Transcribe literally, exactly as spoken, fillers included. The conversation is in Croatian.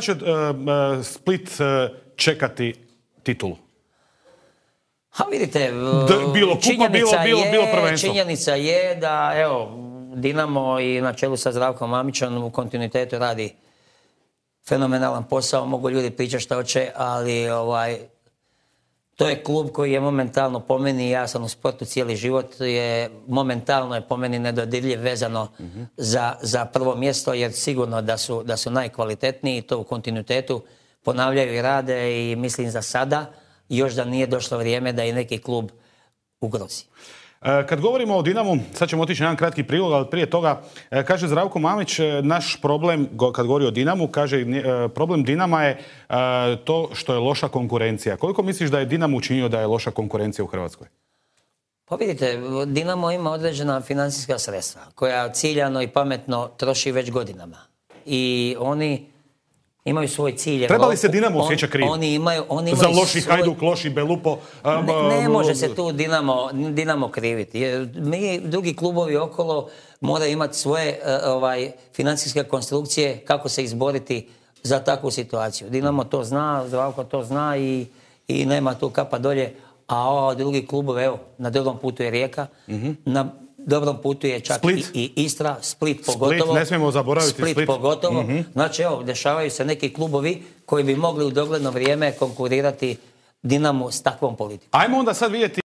će uh, Split uh, čekati titulu? Ha, vidite, D, bilo kupa, bilo, bilo, je, bilo prvenstvo. Činjenica je da, evo, Dinamo i na čelu sa Zdravkom Mamićem u kontinuitetu radi fenomenalan posao. Mogu ljudi pričati šta hoće, ali ovaj, to je klub koji je momentalno po meni, ja sam u sportu cijeli život, je momentalno je po meni nedodirljiv vezano mm-hmm. za, za prvo mjesto, jer sigurno da su, da su najkvalitetniji, to u kontinuitetu ponavljaju i rade i mislim za sada još da nije došlo vrijeme da i neki klub ugrozi. Kad govorimo o Dinamu, sad ćemo otići na jedan kratki prilog, ali prije toga kaže Zdravko Mamić, naš problem, kad govori o Dinamu, kaže problem Dinama je to što je loša konkurencija. Koliko misliš da je Dinamo učinio da je loša konkurencija u Hrvatskoj? Pa vidite, Dinamo ima određena financijska sredstva koja ciljano i pametno troši već godinama. I oni imaju svoj cilj. Treba li se Dinamo osjeća kriv? Oni imaju, oni imaju za loši svoj... Hajduk, loši Belupo? Ne, ne može se tu Dinamo, Dinamo kriviti. Jer mi, drugi klubovi okolo, moraju imati svoje ovaj, financijske konstrukcije kako se izboriti za takvu situaciju. Dinamo to zna, Zdravko to zna i, i nema tu kapa dolje. A ovo drugi klubovi, evo, na dobrom putu je Rijeka, mm-hmm. na dobrom putu je čak i, i Istra, Split pogotovo. Split, ne smijemo zaboraviti Split. Split pogotovo. Mm-hmm. Znači, evo, dešavaju se neki klubovi koji bi mogli u dogledno vrijeme konkurirati Dinamu s takvom politikom. Ajmo onda sad vidjeti